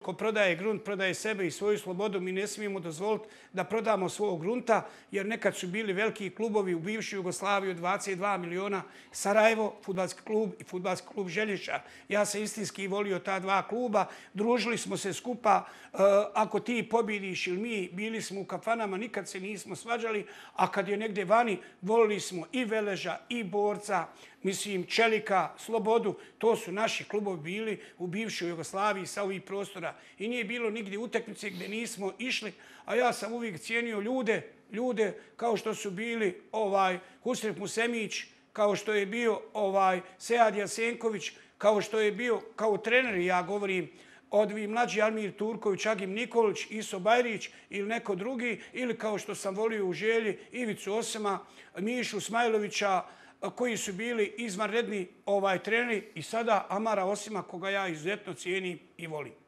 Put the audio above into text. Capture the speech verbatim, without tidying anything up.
ko prodaje grunt, prodaje sebe i svoju slobodu. Mi ne smijemo dozvoliti da prodamo svog grunta, jer nekad su bili veliki klubovi u bivšoj Jugoslaviji od dvadeset dva miliona. Sarajevo, fudbalski klub i fudbalski klub Želješar. Ja sam istinski volio ta dva kluba. Družili smo se skupa. Ako ti pobjediš ili mi, bili smo u kafanama, nikad se nismo svađali. A kad je negdje vani, volili smo i Veleža, i Borca, mislim, Čelika, Slobodu. To su naši klubovi bili u bivšoj Jugoslaviji sa ovih prostora. I nije bilo nigdje utakmice gdje nismo išli. A ja sam uvijek cijenio ljude, ljude kao što su bili ovaj Husrev Musemić, kao što je bio ovaj Sead Jasenković, kao što je bio kao trener, ja govorim, odvi mlađi Almir Turković, Agim Nikolić, Iso Bajrić ili neko drugi, ili kao što sam volio u Želji Ivicu Osema, Mišu Smajlovića, koji su bili izvanredni ovaj treneri, i sada Amara Osima, koga ja izuzetno cijenim i volim.